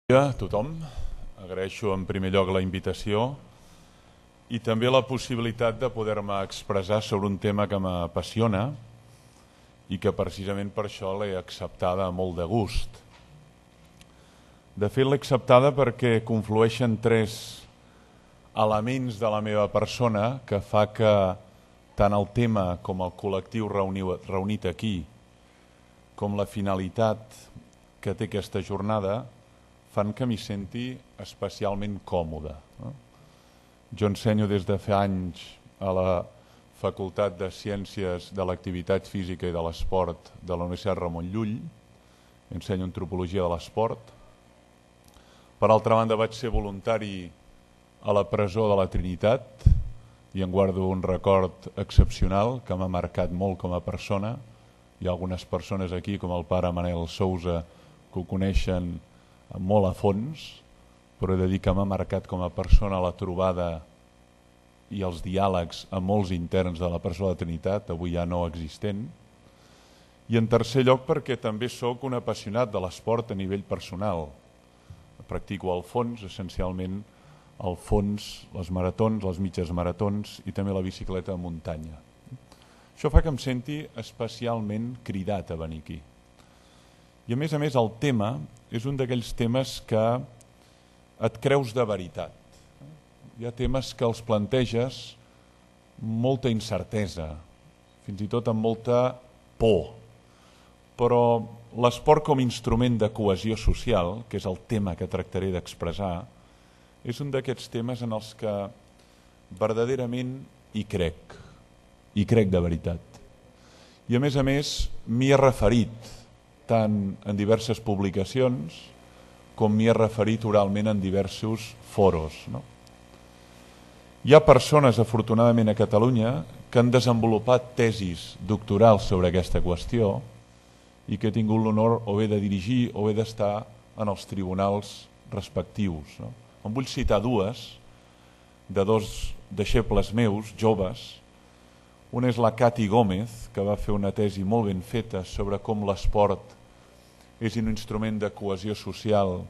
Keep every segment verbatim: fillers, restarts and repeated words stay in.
Bon dia a tothom, agraeixo en primer lloc la invitació i també la possibilitat de poder-me expressar sobre un tema que m'apassiona i que precisament per això l'he acceptada molt de gust. De fet, l'he acceptada perquè conflueixen tres elements de la meva persona que fa que tant el tema com el col·lectiu reunit aquí com la finalitat que té aquesta jornada fan que m'hi senti especialment còmode. Jo ensenyo des de fa anys a la Facultat de Ciències de l'Activitat Física i de l'Esport de la Universitat Ramon Llull, ensenyo antropologia de l'esport. Per altra banda, vaig ser voluntari a la presó de la Trinitat i en guardo un record excepcional que m'ha marcat molt com a persona. Hi ha algunes persones aquí, com el pare Manel Sousa, que ho coneixen molt a fons, però he de dir que m'ha marcat com a persona la trobada i els diàlegs amb molts interns de la presó de la Trinitat, avui ja no existent. I en tercer lloc perquè també sóc un apassionat de l'esport a nivell personal. Practico al fons, essencialment al fons, les maratons, les mitges maratons i també la bicicleta de muntanya. Això fa que em senti especialment cridat a venir aquí. I a més a més el tema és un d'aquells temes que et creus de veritat. Hi ha temes que els planteges molta incertesa, fins i tot amb molta por. Però l'esport com a instrument de cohesió social, que és el tema que tractaré d'expressar, és un d'aquests temes en els que verdaderament hi crec, hi crec de veritat. I a més a més m'hi he referit tant en diverses publicacions com m'hi he referit oralment en diversos foros. No? Hi ha persones, afortunadament, a Catalunya que han desenvolupat tesis doctorals sobre aquesta qüestió i que he tingut l'honor o bé de dirigir o bé d'estar en els tribunals respectius. No? En vull citar dues de dos deixebles meus, joves. Una és la Cati Gómez, que va fer una tesi molt ben feta sobre com l'esport és un instrument de cohesió social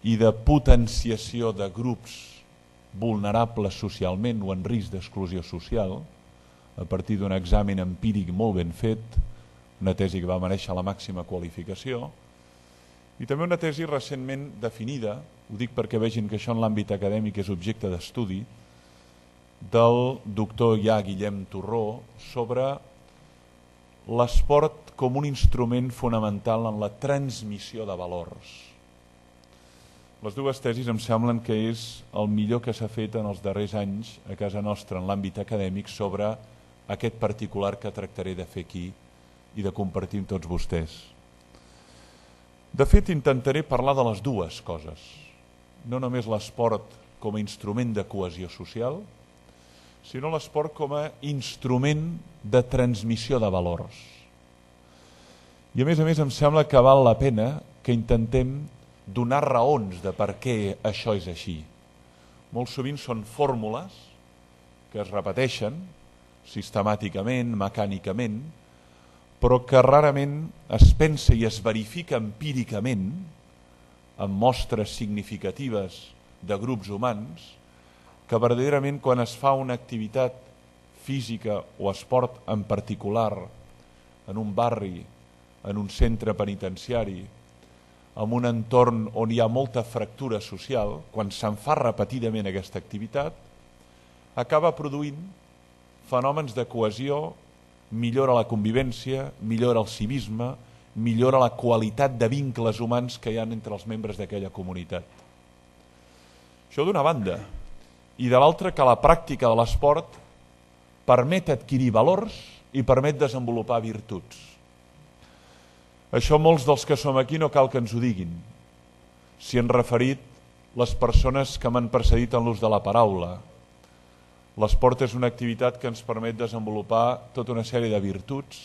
i de potenciació de grups vulnerables socialment o en risc d'exclusió social, a partir d'un examen empíric molt ben fet, una tesi que va merèixer la màxima qualificació, i també una tesi recentment definida, ho dic perquè vegin que això en l'àmbit acadèmic és objecte d'estudi, del doctor ja Guillem Torró sobre l'esport com un instrument fonamental en la transmissió de valors. Les dues tesis em semblen que és el millor que s'ha fet en els darrers anys a casa nostra en l'àmbit acadèmic sobre aquest particular que tractaré de fer aquí i de compartir amb tots vostès. De fet, intentaré parlar de les dues coses, no només l'esport com a instrument de cohesió social, sinó l'esport com a instrument de transmissió de valors. I a més a més em sembla que val la pena que intentem donar raons de per què això és així. Molt sovint són fórmules que es repeteixen sistemàticament, mecànicament, però que rarament es pensa i es verifica empíricament amb mostres significatives de grups humans que verdaderament quan es fa una activitat física o esport en particular en un barri, en un centre penitenciari, en un entorn on hi ha molta fractura social, quan se'n fa repetidament aquesta activitat, acaba produint fenòmens de cohesió, millora la convivència, millora el civisme, millora la qualitat de vincles humans que hi ha entre els membres d'aquella comunitat. Això d'una banda. I de l'altra, que la pràctica de l'esport permet adquirir valors i permet desenvolupar virtuts. Això molts dels que som aquí no cal que ens ho diguin. S'hi han referit les persones que m'han precedit en l'ús de la paraula. L'esport és una activitat que ens permet desenvolupar tota una sèrie de virtuts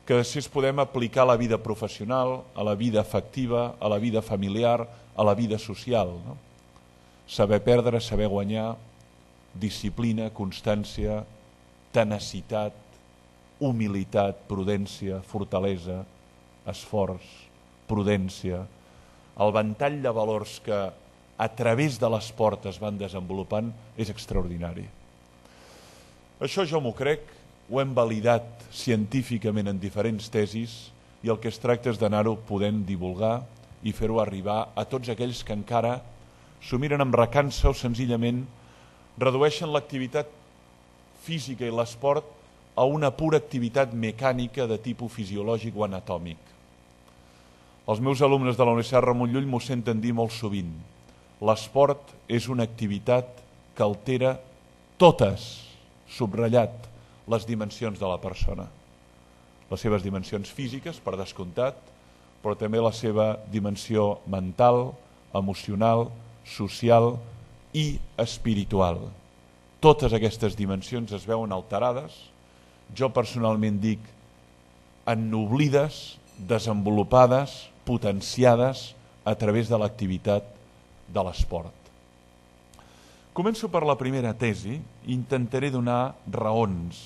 que després podem aplicar a la vida professional, a la vida afectiva, a la vida familiar, a la vida social. No? Saber perdre, saber guanyar, disciplina, constància, tenacitat, humilitat, prudència, fortalesa, esforç, prudència, el ventall de valors que a través de l'esport es van desenvolupant és extraordinari. Això jo m'ho crec, ho hem validat científicament en diferents tesis i el que es tracta és d'anar-ho podent divulgar i fer-ho arribar a tots aquells que encara s'ho miren amb recança o senzillament redueixen l'activitat física i l'esport a una pura activitat mecànica de tipus fisiològic o anatòmic. Els meus alumnes de la Universitat Ramon Llull m'ho senten dir molt sovint. L'esport és una activitat que altera totes, subratllat, les dimensions de la persona. Les seves dimensions físiques, per descomptat, però també la seva dimensió mental, emocional, social i espiritual. Totes aquestes dimensions es veuen alterades, jo personalment dic ennoblides, desenvolupades, potenciades a través de l'activitat de l'esport. Començo per la primera tesi i intentaré donar raons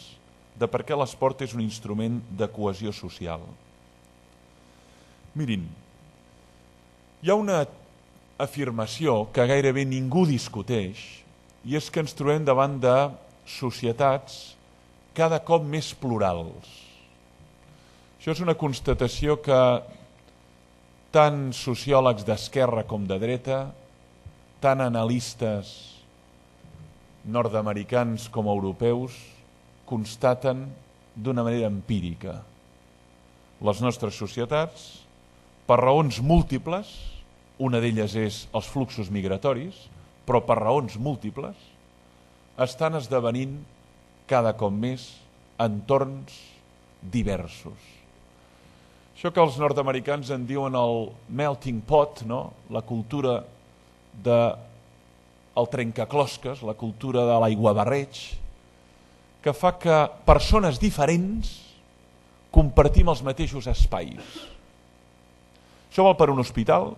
de per què l'esport és un instrument de cohesió social. Mirin, hi ha una afirmació que gairebé ningú discuteix i és que ens trobem davant de societats cada cop més plurals. Això és una constatació que tant sociòlegs d'esquerra com de dreta, tant analistes nord-americans com europeus, constaten d'una manera empírica. Les nostres societats, per raons múltiples, una d'elles és els fluxos migratoris, però per raons múltiples, estan esdevenint cada cop més entorns diversos. Això que els nord-americans en diuen el melting pot, no? La cultura del trencaclosques, la cultura de l'aiguabarreig, que fa que persones diferents compartim els mateixos espais. Això val per un hospital,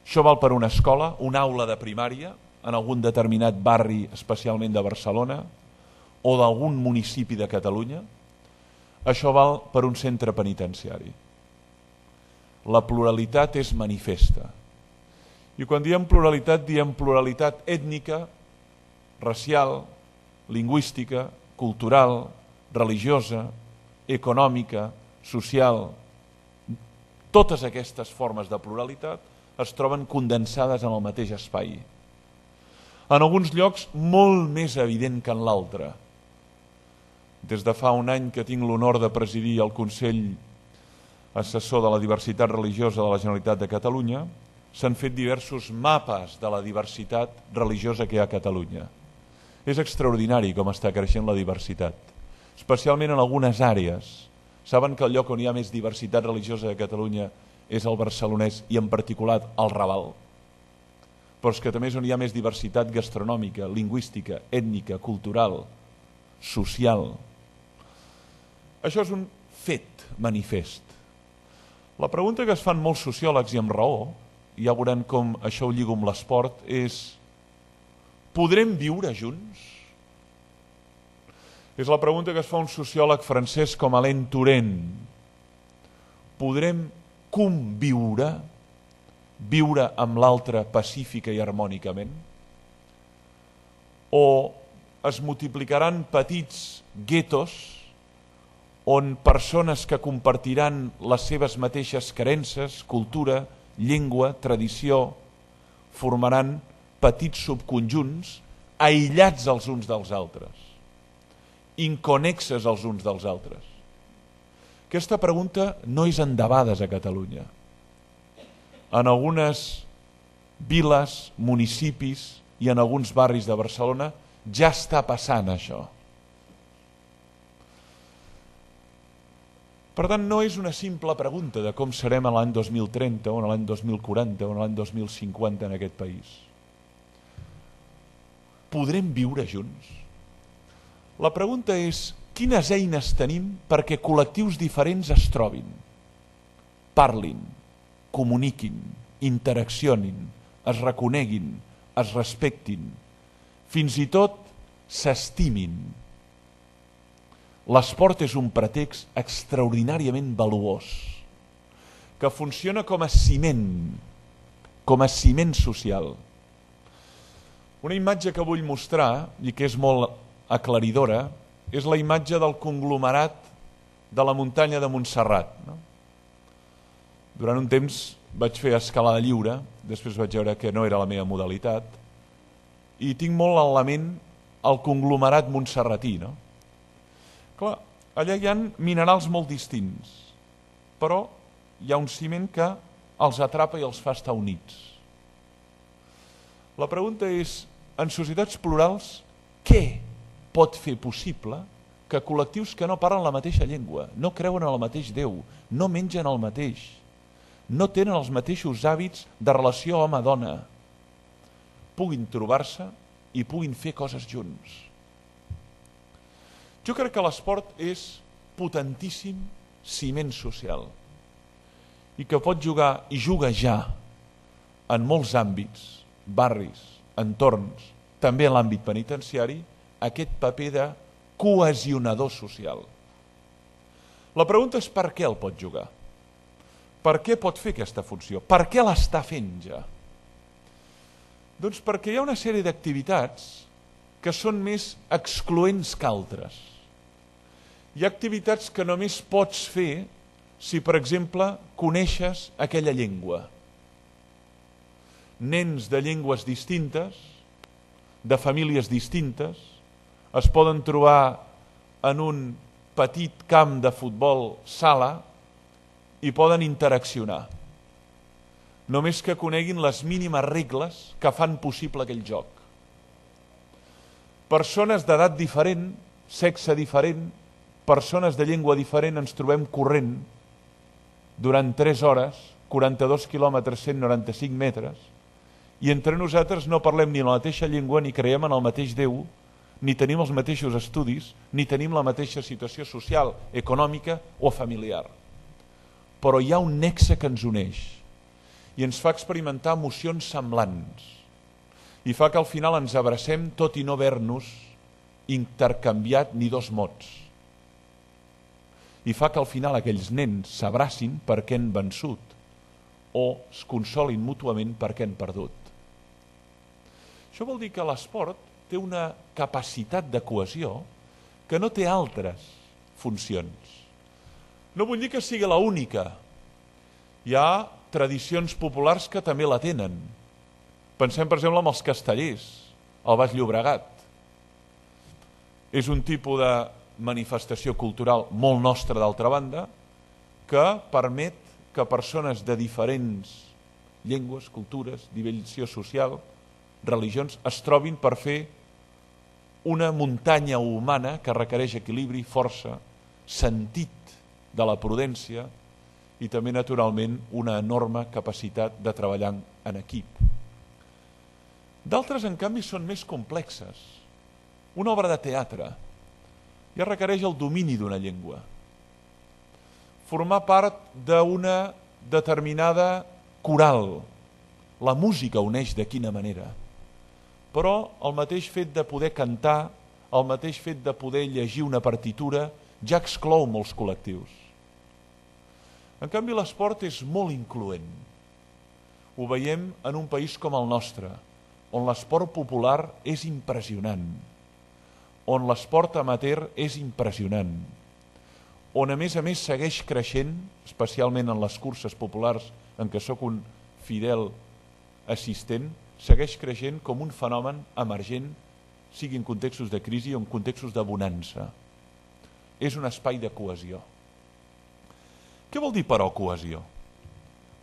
això val per una escola, una aula de primària, en algun determinat barri, especialment de Barcelona, o d'algun municipi de Catalunya. Això val per un centre penitenciari. La pluralitat és manifesta. I quan diem pluralitat, diem pluralitat ètnica, racial, lingüística, cultural, religiosa, econòmica, social. Totes aquestes formes de pluralitat es troben condensades en el mateix espai. En alguns llocs molt més evident que en l'altre. Des de fa un any que tinc l'honor de presidir el Consell Assessor de la Diversitat Religiosa de la Generalitat de Catalunya, s'han fet diversos mapes de la diversitat religiosa que hi ha a Catalunya. És extraordinari com està creixent la diversitat, especialment en algunes àrees. Saben que el lloc on hi ha més diversitat religiosa de Catalunya és el barcelonès i en particular el Raval. Però és que també és on hi ha més diversitat gastronòmica, lingüística, ètnica, cultural, social. Això és un fet manifest. La pregunta que es fan molts sociòlegs i amb raó, i ja veuran com això ho lligo amb l'esport, és: podrem viure junts? És la pregunta que es fa un sociòleg francès com Alain Touraine. Podrem conviure, viure amb l'altre pacífica i harmònicament? O es multiplicaran petits guetos on persones que compartiran les seves mateixes creences, cultura, llengua, tradició, formaran petits subconjunts aïllats els uns dels altres, inconexes els uns dels altres? Aquesta pregunta no és endebades a Catalunya. En algunes viles, municipis i en alguns barris de Barcelona ja està passant això. Per tant, no és una simple pregunta de com serem a l'any dos mil trenta o a l'any dos mil quaranta o a l'any dos mil cinquanta en aquest país. Podrem viure junts? La pregunta és: quines eines tenim perquè col·lectius diferents es trobin, parlin, comuniquin, interaccionin, es reconeguin, es respectin, fins i tot s'estimin? L'esport és un pretext extraordinàriament valuós, que funciona com a ciment com a ciment social. Una imatge que vull mostrar, i que és molt aclaridora, és la imatge del conglomerat de la muntanya de Montserrat. No? Durant un temps vaig fer escalada lliure, després vaig veure que no era la meva modalitat, i tinc molt en la ment el conglomerat montserratí. No? Clar, allà hi ha minerals molt distints, però hi ha un ciment que els atrapa i els fa estar units. La pregunta és, en societats plurals, què pot fer possible que col·lectius que no parlen la mateixa llengua, no creuen en el mateix Déu, no mengen el mateix, no tenen els mateixos hàbits de relació home-dona, puguin trobar-se i puguin fer coses junts? Jo crec que l'esport és potentíssim ciment social i que pot jugar, i juga ja, en molts àmbits, barris, entorns, també en l'àmbit penitenciari, aquest paper de cohesionador social. La pregunta és per què el pot jugar? Per què pot fer aquesta funció? Per què l'està fent ja? Doncs perquè hi ha una sèrie d'activitats que són més excloents que altres. Hi ha activitats que només pots fer si, per exemple, coneixes aquella llengua. Nens de llengües distintes, de famílies distintes, es poden trobar en un petit camp de futbol sala i poden interaccionar. Només que coneguin les mínimes regles que fan possible aquell joc. Persones d'edat diferent, sexe diferent, persones de llengua diferent, ens trobem corrent durant tres hores, quaranta-dos quilòmetres, cent noranta-cinc metres, i entre nosaltres no parlem ni la mateixa llengua, ni creiem en el mateix Déu, ni tenim els mateixos estudis, ni tenim la mateixa situació social, econòmica o familiar. Però hi ha un nexe que ens uneix i ens fa experimentar emocions semblants i fa que al final ens abracem tot i no haver-nos intercanviat ni dos mots. I fa que al final aquells nens s'abracin perquè han vençut o es consolin mútuament perquè han perdut. Això vol dir que l'esport té una capacitat de cohesió que no té altres funcions. No vull dir que sigui l'única. Hi ha tradicions populars que també la tenen. Pensem, per exemple, en els castellers, al Baix Llobregat. És un tipus de manifestació cultural molt nostra, d'altra banda, que permet que persones de diferents llengües, cultures, dimensió social, religions, es trobin per fer una muntanya humana que requereix equilibri, força, sentit de la prudència i també, naturalment, una enorme capacitat de treballar en equip. D'altres, en canvi, són més complexes. Una obra de teatre ja requereix el domini d'una llengua. Formar part d'una determinada coral. La música uneix de quina manera. Però el mateix fet de poder cantar, el mateix fet de poder llegir una partitura, ja exclou molts col·lectius. En canvi, l'esport és molt incloent. Ho veiem en un país com el nostre, on l'esport popular és impressionant, on l'esport amateur és impressionant, on a més a més segueix creixent, especialment en les curses populars en què sóc un fidel assistent, segueix creixent com un fenomen emergent, sigui en contextos de crisi o en contextos de bonança. És un espai de cohesió. Què vol dir, però, cohesió?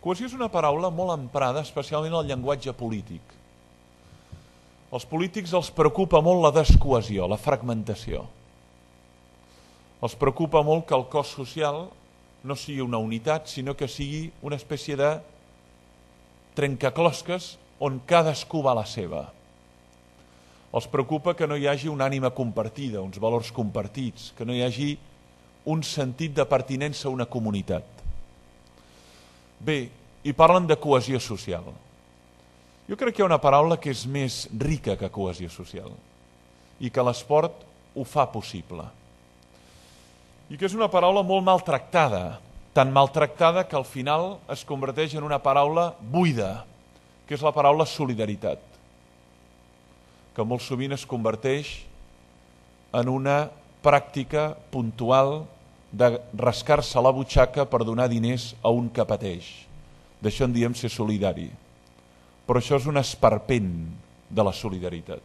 Cohesió és una paraula molt emprada, especialment al llenguatge polític. Als polítics els preocupa molt la descohesió, la fragmentació. Els preocupa molt que el cos social no sigui una unitat, sinó que sigui una espècie de trencaclosques on cadascú va a la seva. Els preocupa que no hi hagi una ànima compartida, uns valors compartits, que no hi hagi un sentit de pertinença a una comunitat. Bé, i parlen de cohesió social. Jo crec que hi ha una paraula que és més rica que cohesió social i que l'esport ho fa possible. I que és una paraula molt maltractada, tan maltractada que al final es converteix en una paraula buida, que és la paraula solidaritat, que molt sovint es converteix en una pràctica puntual de rascar-se la butxaca per donar diners a un que pateix. D'això en diem ser solidari. Però això és un esperpent de la solidaritat.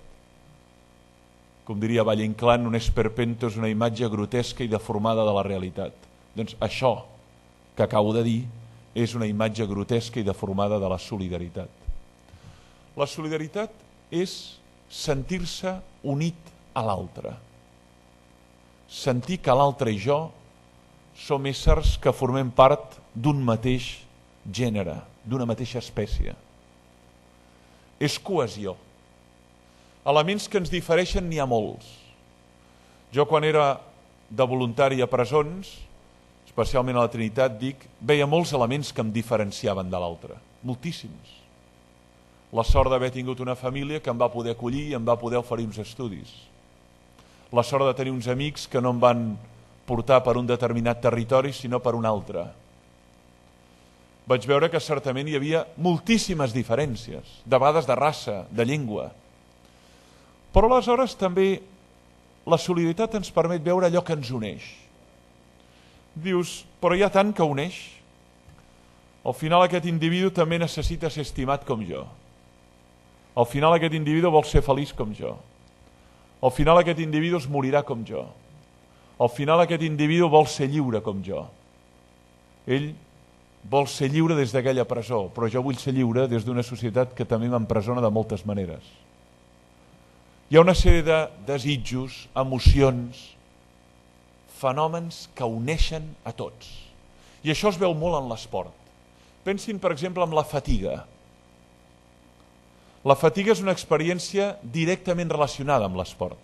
Com diria Valle Inclán, un esperpento és una imatge grotesca i deformada de la realitat. Doncs això que acabo de dir és una imatge grotesca i deformada de la solidaritat. La solidaritat és sentir-se unit a l'altre. Sentir que l'altre i jo som éssers que formem part d'un mateix gènere, d'una mateixa espècie. És cohesió. Elements que ens difereixen n'hi ha molts. Jo quan era de voluntari a presons, especialment a la Trinitat, dic, veia molts elements que em diferenciaven de l'altre, moltíssims. La sort d'haver tingut una família que em va poder acollir i em va poder oferir uns estudis. La sort de tenir uns amics que no em van portar per un determinat territori, sinó per un altre. Vaig veure que certament hi havia moltíssimes diferències, de vegades de raça, de llengua. Però aleshores també la solidaritat ens permet veure allò que ens uneix. Dius, però hi ha tant que uneix. Al final aquest individu també necessita ser estimat com jo. Al final aquest individu vol ser feliç com jo. Al final aquest individu es morirà com jo. Al final aquest individu vol ser lliure com jo. Ell vol ser lliure des d'aquella presó, però jo vull ser lliure des d'una societat que també m'empresona de moltes maneres. Hi ha una sèrie de desitjos, emocions, fenòmens que uneixen a tots. I això es veu molt en l'esport. Pensin, per exemple, en la fatiga. La fatiga és una experiència directament relacionada amb l'esport.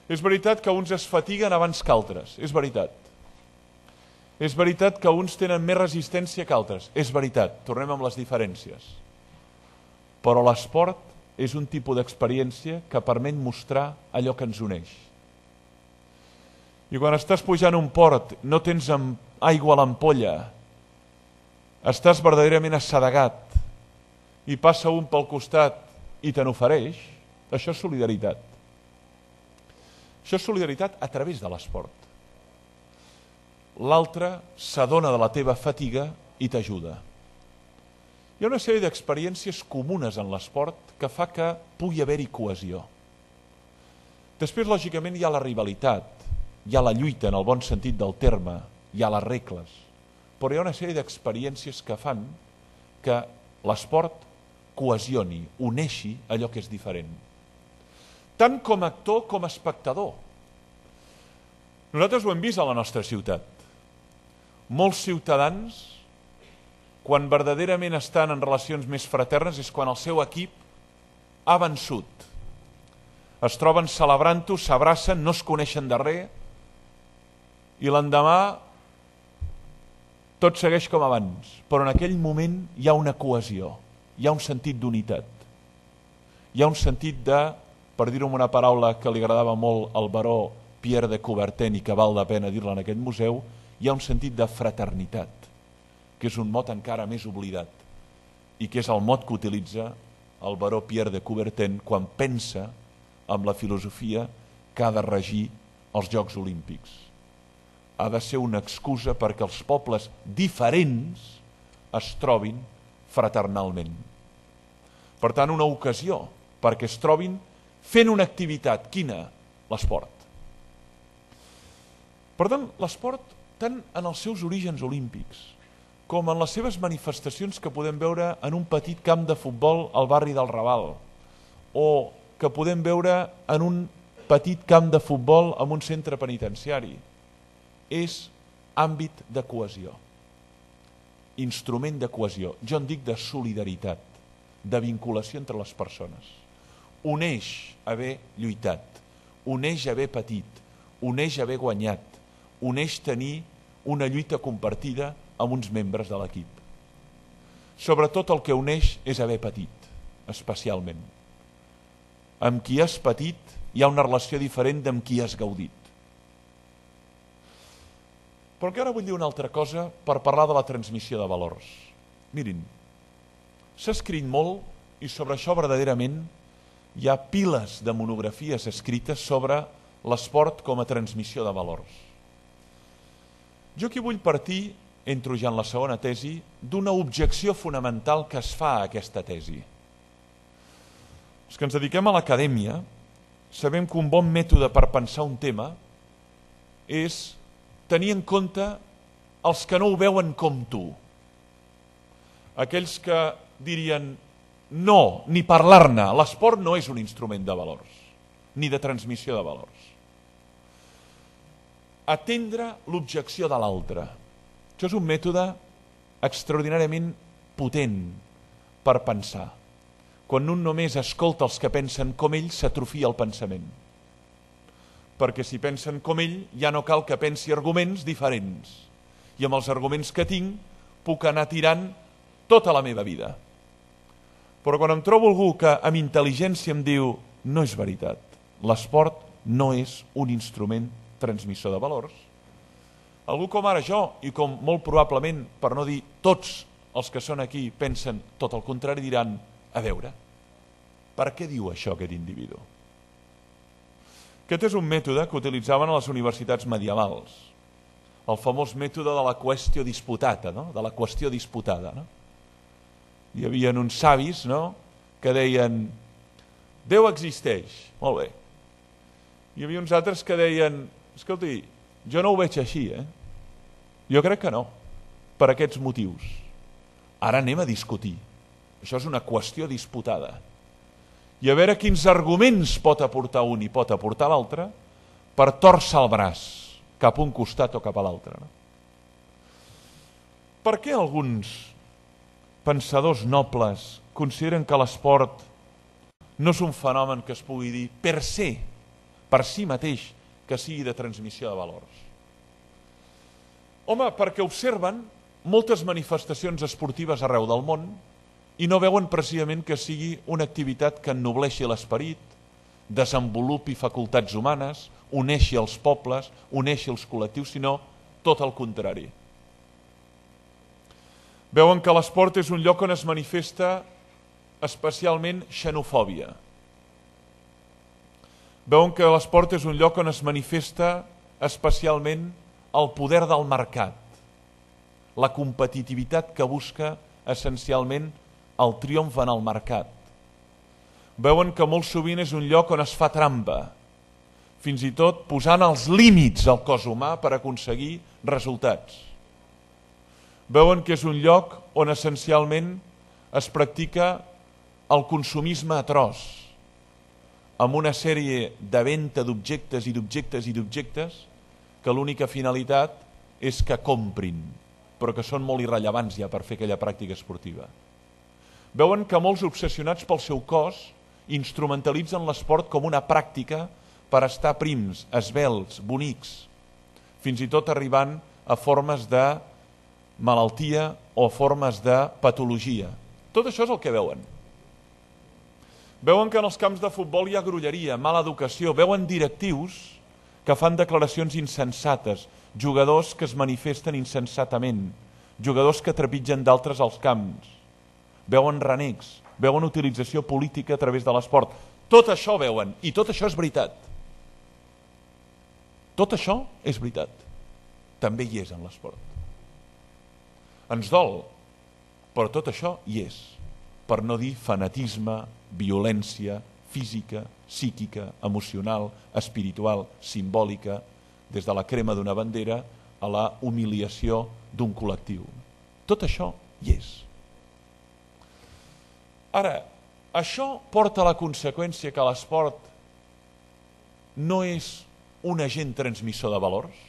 És veritat que uns es fatiguen abans que altres, és veritat. És veritat que uns tenen més resistència que altres, és veritat, tornem amb les diferències. Però l'esport és un tipus d'experiència que permet mostrar allò que ens uneix. I quan estàs pujant un port, no tens aigua a l'ampolla, estàs verdaderament assedegat i passa un pel costat i te n'ofereix, això és solidaritat. Això és solidaritat a través de l'esport. L'altre s'adona de la teva fatiga i t'ajuda. Hi ha una sèrie d'experiències comunes en l'esport que fa que pugui haver-hi cohesió. Després, lògicament, hi ha la rivalitat, hi ha la lluita en el bon sentit del terme, hi ha les regles, però hi ha una sèrie d'experiències que fan que l'esport cohesioni, uneixi allò que és diferent. Tant com a actor com a espectador. Nosaltres ho hem vist a la nostra ciutat. Molts ciutadans, quan verdaderament estan en relacions més fraternes, és quan el seu equip ha vençut. Es troben celebrant-ho, s'abracen, no es coneixen de res, i l'endemà tot segueix com abans. Però en aquell moment hi ha una cohesió, hi ha un sentit d'unitat. Hi ha un sentit de, per dir-ho amb una paraula que li agradava molt al baró Pierre de Coubertin i que val la pena dir-la en aquest museu, hi ha un sentit de fraternitat, que és un mot encara més oblidat i que és el mot que utilitza el baró Pierre de Coubertin quan pensa en la filosofia que ha de regir els Jocs Olímpics. Ha de ser una excusa perquè els pobles diferents es trobin fraternalment. Per tant, una ocasió perquè es trobin fent una activitat. Quina? L'esport. Per tant, l'esport, tant en els seus orígens olímpics com en les seves manifestacions que podem veure en un petit camp de futbol al barri del Raval o que podem veure en un petit camp de futbol en un centre penitenciari, és àmbit de cohesió, instrument de cohesió, jo en dic de solidaritat, de vinculació entre les persones. Uneix haver lluitat, uneix haver patit, uneix haver guanyat, uneix tenir una lluita compartida amb uns membres de l'equip. Sobretot el que uneix és haver patit, especialment. Amb qui has patit hi ha una relació diferent d'amb qui has gaudit. Però que ara vull dir una altra cosa per parlar de la transmissió de valors. Mirin, S'ha escrit molt i sobre això verdaderament hi ha piles de monografies escrites sobre l'esport com a transmissió de valors. Jo aquí vull partir, entro ja en la segona tesi, d'una objecció fonamental que es fa a aquesta tesi. Els que ens dediquem a l'acadèmia sabem que un bon mètode per pensar un tema és tenir en compte els que no ho veuen com tu. Aquells que dirien no, ni parlar-ne, l'esport no és un instrument de valors, ni de transmissió de valors. Atendre l'objecció de l'altre. Això és un mètode extraordinàriament potent per pensar. Quan un només escolta els que pensen com ell, s'atrofia el pensament. Perquè si pensen com ell, ja no cal que pensi arguments diferents. I amb els arguments que tinc, puc anar tirant tota la meva vida. Però quan em trobo algú que amb intel·ligència em diu no és veritat, l'esport no és un instrument transmissor de valors, algú com ara jo, i com molt probablement, per no dir tots els que són aquí, pensen tot el contrari, diran, a veure, per què diu això aquest individu? Aquest és un mètode que utilitzaven a les universitats medievals, el famós mètode de la qüestió disputata, no? de la qüestió disputada. No? Hi havia uns savis, no? que deien Déu existeix, molt bé. Hi havia uns altres que deien escolti, jo no ho veig així, eh? Jo crec que no, per aquests motius. Ara anem a discutir. Això és una qüestió disputada. I a veure quins arguments pot aportar un i pot aportar l'altre per tòrcer el braç cap a un costat o cap a l'altre. No? Per què alguns pensadors nobles consideren que l'esport no és un fenomen que es pugui dir per se, per si mateix, que sigui de transmissió de valors? Home, perquè observen moltes manifestacions esportives arreu del món i no veuen precisament que sigui una activitat que ennobleixi l'esperit, desenvolupi facultats humanes, uneixi els pobles, uneixi els col·lectius, sinó tot el contrari. Veuen que l'esport és un lloc on es manifesta especialment xenofòbia. Veuen que l'esport és un lloc on es manifesta especialment el poder del mercat, la competitivitat que busca essencialment el triomf en el mercat. Veuen que molt sovint és un lloc on es fa trampa, fins i tot posant els límits al cos humà per aconseguir resultats. Veuen que és un lloc on essencialment es practica el consumisme atroç, amb una sèrie de venda d'objectes i d'objectes i d'objectes que l'única finalitat és que comprin, però que són molt irrellevants ja per fer aquella pràctica esportiva. Veuen que molts obsessionats pel seu cos instrumentalitzen l'esport com una pràctica per estar prims, esvelts, bonics, fins i tot arribant a formes de malaltia o formes de patologia. Tot això és el que veuen. Veuen que en els camps de futbol hi ha grolleria, mala educació, veuen directius que fan declaracions insensates, jugadors que es manifesten insensatament, jugadors que trepitgen d'altres als camps, veuen renecs, veuen utilització política a través de l'esport. Tot això veuen, i tot això és veritat. Tot això és veritat. També hi és en l'esport. Ens dol, però tot això hi és. Per no dir fanatisme, violència física, psíquica, emocional, espiritual, simbòlica, des de la crema d'una bandera a la humiliació d'un col·lectiu. Tot això hi és. Ara, això porta a la conseqüència que l'esport no és un agent transmissor de valors?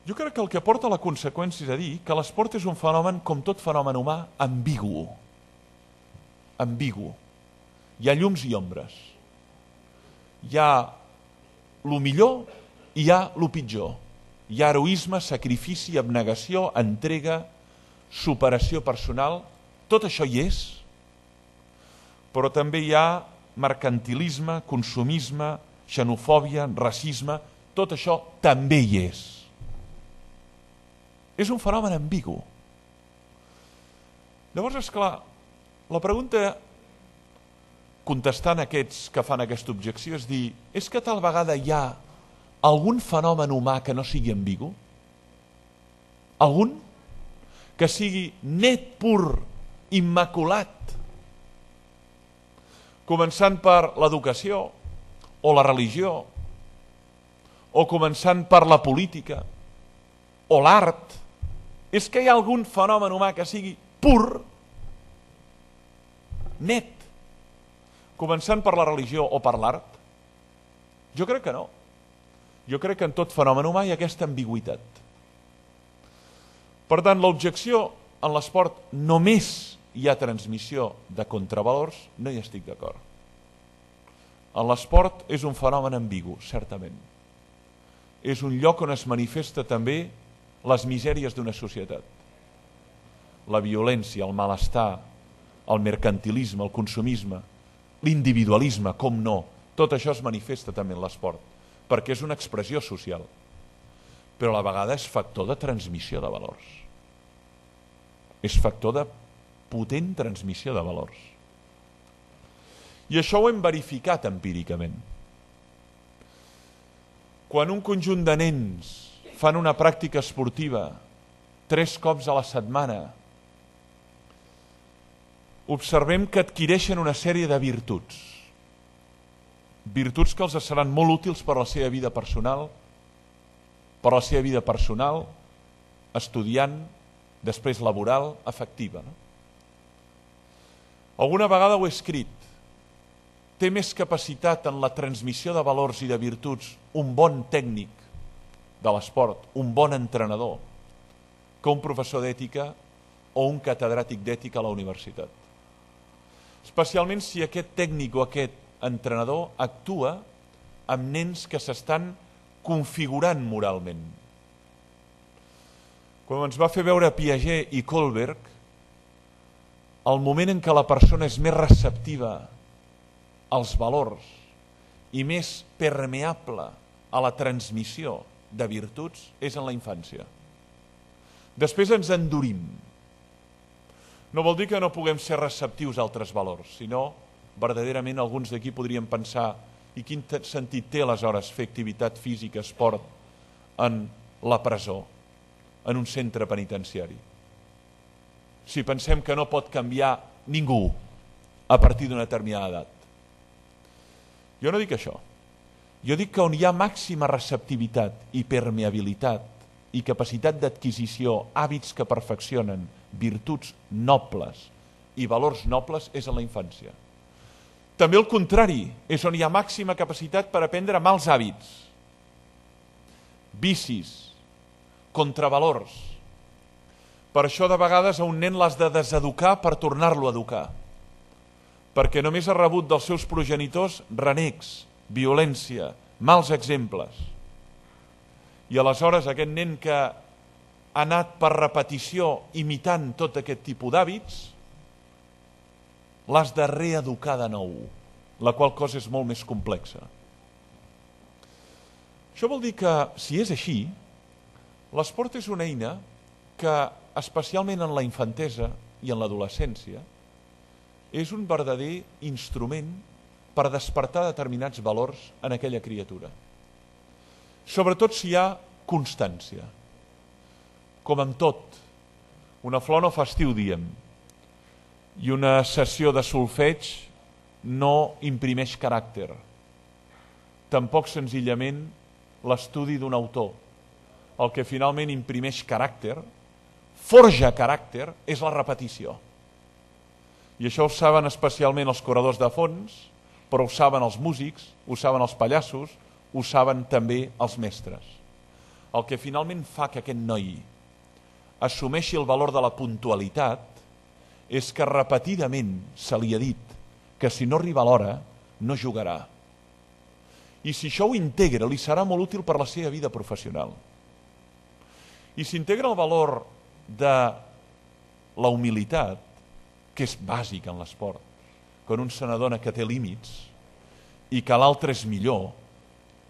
Jo crec que el que porta a la conseqüència és a dir que l'esport és un fenomen, com tot fenomen humà, ambigu. Ambigu. Hi ha llums i ombres. Hi ha el millor i hi ha el pitjor. Hi ha heroisme, sacrifici, abnegació, entrega, superació personal. Tot això hi és, però també hi ha mercantilisme, consumisme, xenofòbia, racisme. Tot això també hi és. És un fenomen ambigu. Llavors, esclar, la pregunta contestant aquests que fan aquesta objecció és dir, és que tal vegada hi ha algun fenomen humà que no sigui ambigu? Algun? Que sigui net, pur, immaculat? Començant per l'educació, o la religió, o començant per la política, o l'art. És que hi ha algun fenomen humà que sigui pur, net, començant per la religió o per l'art? Jo crec que no. Jo crec que en tot fenomen humà hi ha aquesta ambigüitat. Per tant, l'objecció en l'esport només hi ha transmissió de contravalors, no hi estic d'acord. En l'esport és un fenomen ambigu, certament. És un lloc on es manifesta també les misèries d'una societat. La violència, el malestar, el mercantilisme, el consumisme, l'individualisme, com no, tot això es manifesta també en l'esport, perquè és una expressió social, però a la vegada és factor de transmissió de valors. És factor de potent transmissió de valors. I això ho hem verificat empíricament. Quan un conjunt de nens fan una pràctica esportiva tres cops a la setmana, observem que adquireixen una sèrie de virtuts. Virtuts que els seran molt útils per a la seva vida personal, per a la seva vida personal, estudiant, després laboral, afectiva. No? Alguna vegada ho he escrit. Té més capacitat en la transmissió de valors i de virtuts un bon tècnic de l'esport, un bon entrenador, que un professor d'ètica o un catedràtic d'ètica a la universitat. Especialment si aquest tècnic o aquest entrenador actua amb nens que s'estan configurant moralment. Quan ens va fer veure Piaget i Kohlberg, el moment en què la persona és més receptiva als valors i més permeable a la transmissió de virtuts és en la infància. Després ens endurim. No vol dir que no puguem ser receptius a altres valors, sinó verdaderament alguns d'aquí podríem pensar i quin sentit té aleshores fer activitat física, esport en la presó, en un centre penitenciari. Si pensem que no pot canviar ningú a partir d'una determinada edat. Jo no dic això. Jo dic que on hi ha màxima receptivitat i permeabilitat i capacitat d'adquisició, hàbits que perfeccionen, virtuts nobles i valors nobles és en la infància. També el contrari, és on hi ha màxima capacitat per aprendre mals hàbits, vicis, contravalors. Per això de vegades a un nen l'has de deseducar per tornar-lo a educar, perquè només ha rebut dels seus progenitors renecs, violència, mals exemples. I aleshores aquest nen que ha anat per repetició imitant tot aquest tipus d'hàbits, l'has de reeducar de nou, la qual cosa és molt més complexa. Això vol dir que, si és així, l'esport és una eina que, especialment en la infantesa i en l'adolescència, és un verdader instrument per despertar determinats valors en aquella criatura. Sobretot si hi ha constància. Com amb tot, una flor no fa estiu, diem, i una sessió de solfeig no imprimeix caràcter. Tampoc senzillament l'estudi d'un autor. El que finalment imprimeix caràcter, forja caràcter, és la repetició. I això ho saben especialment els corredors de fons, però ho saben els músics, ho saben els pallassos, ho saben també els mestres. El que finalment fa que aquest noi assumeixi el valor de la puntualitat és que repetidament se li ha dit que si no arriba a l'hora no jugarà. I si això ho integra, li serà molt útil per la seva vida professional. I s'integra el valor de la humilitat, que és bàsic en l'esport, quan un se n'adona que té límits i que l'altre és millor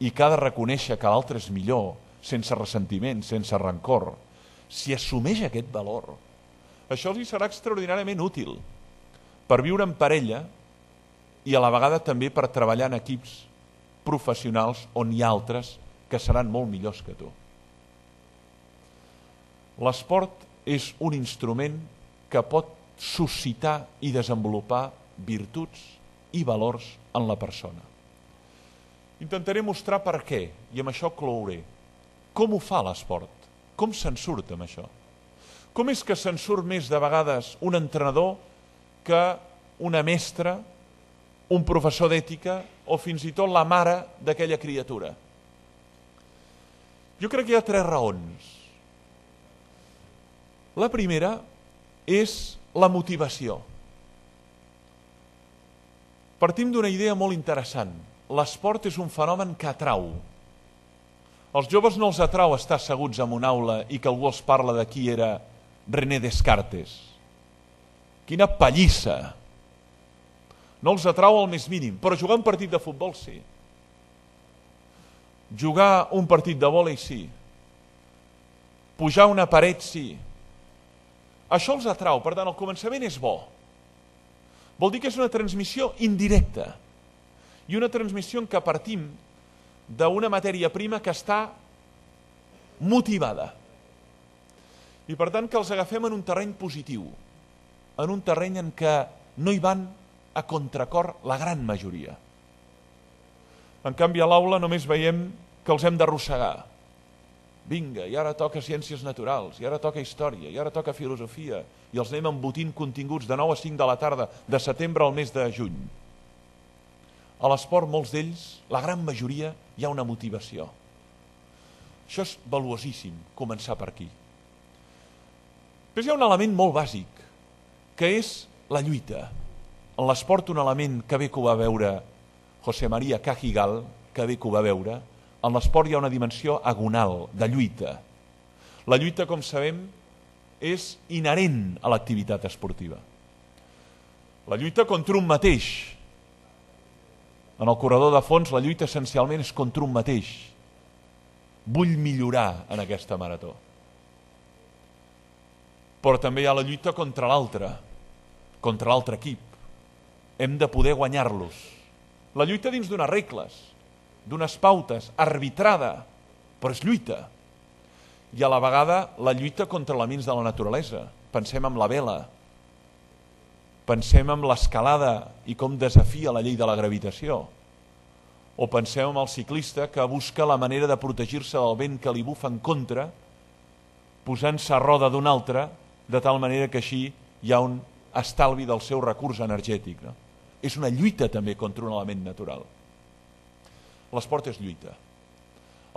i que ha de reconèixer que l'altre és millor, sense ressentiment, sense rancor. Si assumeix aquest valor, Això els serà extraordinàriament útil per viure en parella i a la vegada també per treballar en equips professionals on hi ha altres que seran molt millors que tu. L'esport és un instrument que pot suscitar i desenvolupar virtuts i valors en la persona. Intentaré mostrar per què, i amb això clouré. Com ho fa l'esport? Com se'n surt amb això? Com és que se'n surt més de vegades un entrenador que una mestra, un professor d'ètica o fins i tot la mare d'aquella criatura? Jo crec que hi ha tres raons. La primera és la motivació. Partim d'una idea molt interessant. L'esport és un fenomen que atrau. Els joves no els atrau estar asseguts en una aula i que algú els parla de qui era René Descartes. Quina pallissa! No els atrau al més mínim, però jugar un partit de futbol sí. Jugar un partit de vòlei sí. Pujar una paret sí. Això els atrau, per tant, el començament és bo. Vol dir que és una transmissió indirecta i una transmissió en què partim d'una matèria prima que està motivada. I per tant que els agafem en un terreny positiu, en un terreny en què no hi van a contracor la gran majoria. En canvi, a l'aula només veiem que els hem d'arrossegar. Vinga, i ara toca ciències naturals, i ara toca història, i ara toca filosofia, i els anem embotint continguts de nou a cinc de la tarda, de setembre al mes de juny. A l'esport, molts d'ells, la gran majoria, hi ha una motivació. Això és valuosíssim, començar per aquí. Després hi ha un element molt bàsic, que és la lluita. En l'esport, un element que bé que ho va veure José María Cajigal, que bé que ho va veure, en l'esport hi ha una dimensió agonal, de lluita. La lluita, com sabem, és inherent a l'activitat esportiva. La lluita contra un mateix. En el corredor de fons, la lluita essencialment és contra un mateix. Vull millorar en aquesta marató. Però també hi ha la lluita contra l'altre, contra l'altre equip. Hem de poder guanyar-los. La lluita dins d'unes regles, d'unes pautes, arbitrada, però és lluita. I a la vegada la lluita contra elements de la naturalesa. Pensem en la vela, pensem en l'escalada i com desafia la llei de la gravitació, o pensem en el ciclista que busca la manera de protegir-se del vent que li bufa en contra, posant-se a roda d'un altre, de tal manera que així hi ha un estalvi del seu recurs energètic. No? És una lluita també contra un element natural. L'esport és lluita.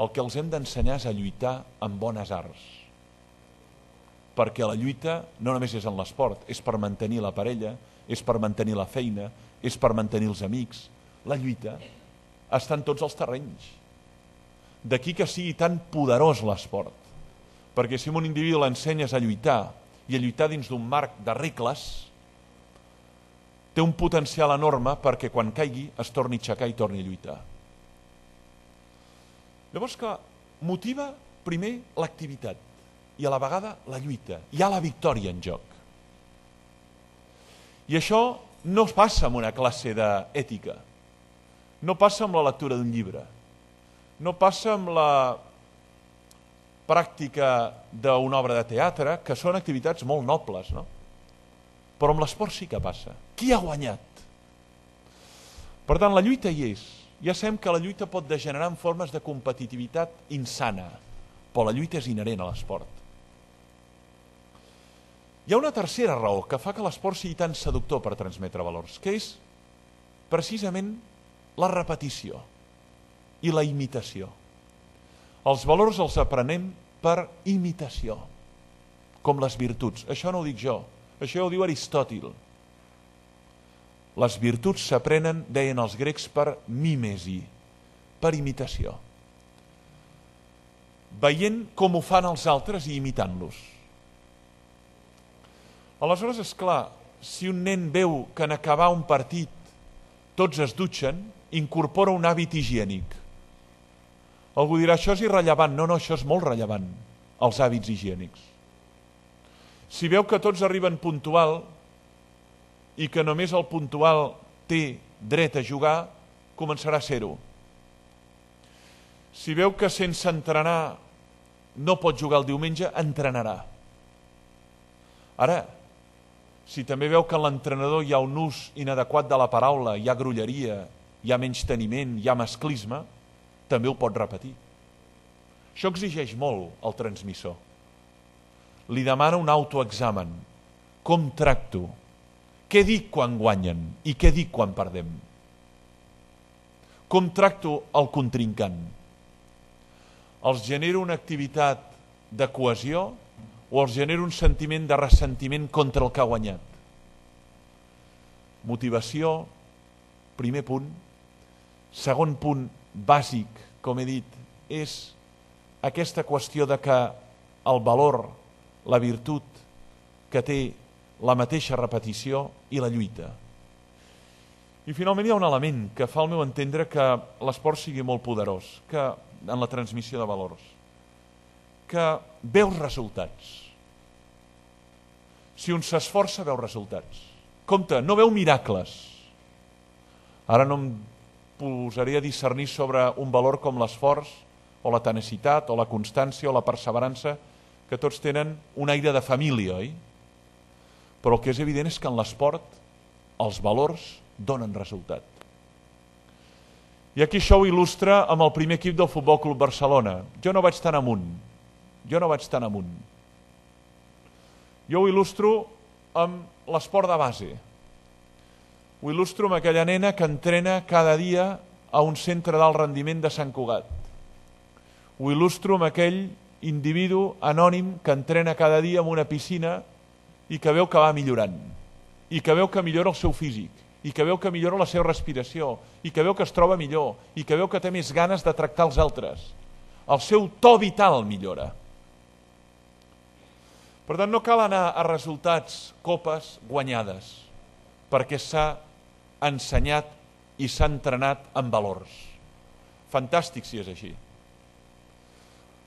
El que els hem d'ensenyar és a lluitar amb bones arts. Perquè la lluita no només és en l'esport, és per mantenir la parella, és per mantenir la feina, és per mantenir els amics. La lluita està en tots els terrenys. D'aquí que sigui tan poderós l'esport. Perquè si a un individu l'ensenyes a lluitar i a lluitar dins d'un marc de regles, té un potencial enorme perquè quan caigui es torni a aixecar i torni a lluitar. Llavors, clar, motiva primer l'activitat i a la vegada la lluita. Hi ha la victòria en joc. I això no passa en una classe d'ètica, no passa amb la lectura d'un llibre, no passa amb la pràctica d'una obra de teatre, que són activitats molt nobles, no? Però amb l'esport sí que passa. Qui ha guanyat? Per tant, la lluita hi és. Ja sabem que la lluita pot degenerar en formes de competitivitat insana, però la lluita és inherent a l'esport. Hi ha una tercera raó que fa que l'esport sigui tan seductor per transmetre valors, que és precisament la repetició i la imitació. Els valors els aprenem per imitació, com les virtuts. Això no ho dic jo, això ho diu Aristòtil. Les virtuts s'aprenen, deien els grecs, per mímesi, per imitació. Veient com ho fan els altres i imitant-los. Aleshores, és clar, si un nen veu que en acabar un partit tots es dutxen, incorpora un hàbit higiènic. Algú dirà, això és irrellevant. No, no, això és molt rellevant, els hàbits higiènics. Si veu que tots arriben puntual i que només el puntual té dret a jugar, començarà a ser-ho. Si veu que sense entrenar no pot jugar el diumenge, entrenarà. Ara, si també veu que en l'entrenador hi ha un ús inadequat de la paraula, hi ha grolleria, hi ha menysteniment, hi ha masclisme, també ho pot repetir. Això exigeix molt al transmissor. Li demana un autoexamen. Com tracto? Què dic quan guanyen i què dic quan perdem? Com tracto el contrincant? Els genera una activitat de cohesió o els genera un sentiment de ressentiment contra el que ha guanyat? Motivació, primer punt. Segon punt bàsic, com he dit, és aquesta qüestió de que el valor, la virtut que té la mateixa repetició i la lluita. I finalment hi ha un element que fa al meu entendre que l'esport sigui molt poderós, que en la transmissió de valors, que veus resultats. Si un s'esforça, veu resultats. Compte, no veu miracles. Ara no em posaré a discernir sobre un valor com l'esforç, o la tenacitat, o la constància, o la perseverança, que tots tenen un aire de família, oi? Però el que és evident és que en l'esport els valors donen resultat. I aquí això ho il·lustra amb el primer equip del Futbol Club Barcelona. Jo no vaig tan amunt. Jo no vaig tan amunt. Jo ho il·lustro amb l'esport de base. Ho il·lustro amb aquella nena que entrena cada dia a un centre d'alt rendiment de Sant Cugat. Ho il·lustro amb aquell individu anònim que entrena cada dia en una piscina i que veu que va millorant, i que veu que millora el seu físic, i que veu que millora la seva respiració, i que veu que es troba millor, i que veu que té més ganes de tractar els altres. El seu to vital millora. Per tant, no cal anar a resultats, copes guanyades, perquè s'ha ensenyat i s'ha entrenat en valors. Fantàstic si és així.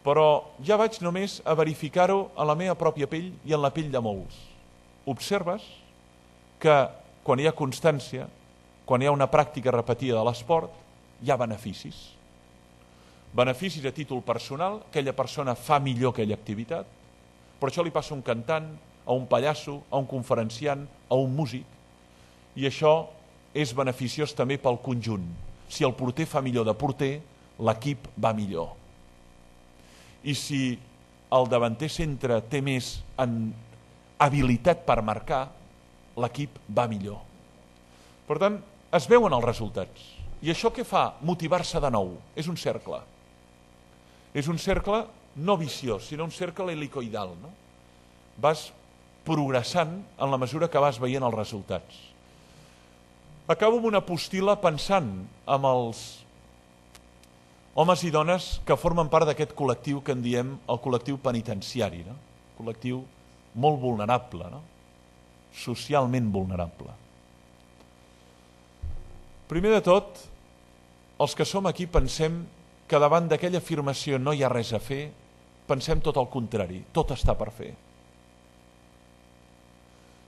Però ja vaig només a verificar-ho a la meva pròpia pell i en la pell de molts. Observes que quan hi ha constància, quan hi ha una pràctica repetida de l'esport, hi ha beneficis. Beneficis a títol personal, aquella persona fa millor aquella activitat, però això li passa a un cantant, a un pallasso, a un conferenciant, a un músic, i això és beneficiós també pel conjunt. Si el porter fa millor de porter, l'equip va millor. I si el davanter centre té més en habilitat per marcar, l'equip va millor. Per tant, es veuen els resultats. I això què fa? Motivar-se de nou. És un cercle. És un cercle no viciós, sinó un cercle helicoidal. No? Vas progressant en la mesura que vas veient els resultats. Acabo amb una postil·la pensant en els homes i dones que formen part d'aquest col·lectiu que en diem el col·lectiu penitenciari, no? Col·lectiu molt vulnerable, no? Socialment vulnerable. Primer de tot, els que som aquí pensem que davant d'aquella afirmació no hi ha res a fer, pensem tot el contrari, tot està per fer.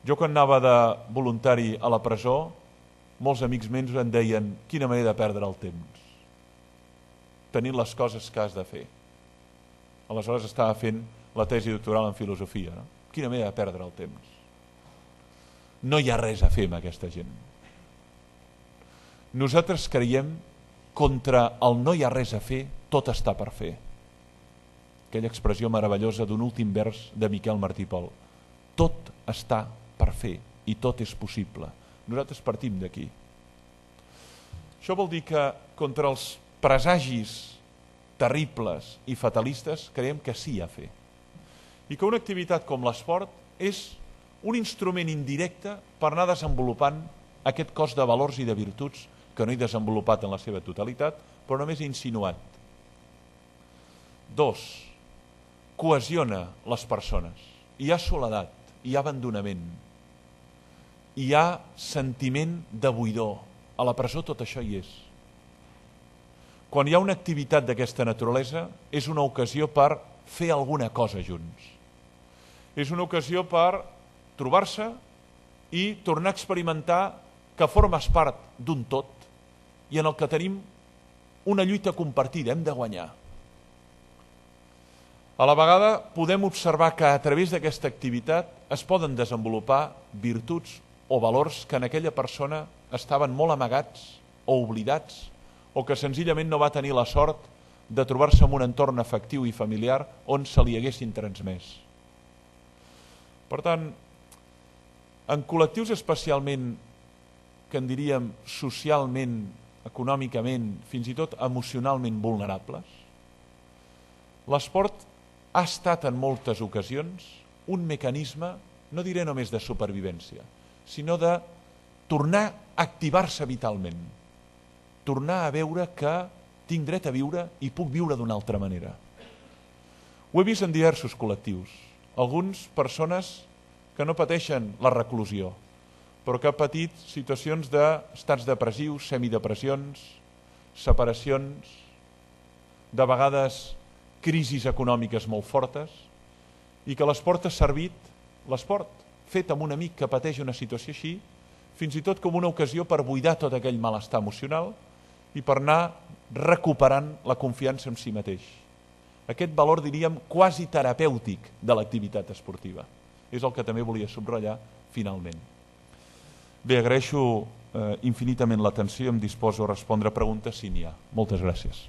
Jo quan anava de voluntari a la presó, molts amics meus em deien quina manera de perdre el temps, tenint les coses que has de fer. Aleshores estava fent la tesi doctoral en filosofia. No? Quina manera de perdre el temps. No hi ha res a fer amb aquesta gent. Nosaltres creiem contra el no hi ha res a fer, tot està per fer. Aquella expressió meravellosa d'un últim vers de Miquel Martí i Pol. Tot està per fer i tot és possible. Nosaltres partim d'aquí. Això vol dir que contra els presagis terribles i fatalistes creiem que sí a fer. I que una activitat com l'esport és un instrument indirecte per anar desenvolupant aquest cos de valors i de virtuts que no he desenvolupat en la seva totalitat, però només he insinuat. Dos, cohesiona les persones. Hi ha soledat, hi ha abandonament, hi ha sentiment de buidor. A la presó tot això hi és. Quan hi ha una activitat d'aquesta naturalesa, és una ocasió per fer alguna cosa junts. És una ocasió per trobar-se i tornar a experimentar que formes part d'un tot i en el que tenim una lluita compartida, hem de guanyar. A la vegada podem observar que a través d'aquesta activitat es poden desenvolupar virtuts o valors que en aquella persona estaven molt amagats o oblidats o que senzillament no va tenir la sort de trobar-se en un entorn afectiu i familiar on se li haguessin transmès. Per tant, en col·lectius especialment que en diríem socialment, econòmicament, fins i tot emocionalment vulnerables, l'esport ha estat en moltes ocasions un mecanisme, no diré només de supervivència, sinó de tornar a activar-se vitalment, tornar a veure que tinc dret a viure i puc viure d'una altra manera. Ho he vist en diversos col·lectius, alguns persones que no pateixen la reclusió, però que han patit situacions d'estats depressius, semidepressions, separacions, de vegades crisis econòmiques molt fortes, i que l'esport ha servit, l'esport fet amb un amic que pateix una situació així, fins i tot com una ocasió per buidar tot aquell malestar emocional i per anar recuperant la confiança en si mateix. Aquest valor, diríem, quasi terapèutic de l'activitat esportiva. És el que també volia subratllar finalment. Bé, agraeixo eh, infinitament l'atenció i em disposo a respondre preguntes si n'hi ha. Moltes gràcies.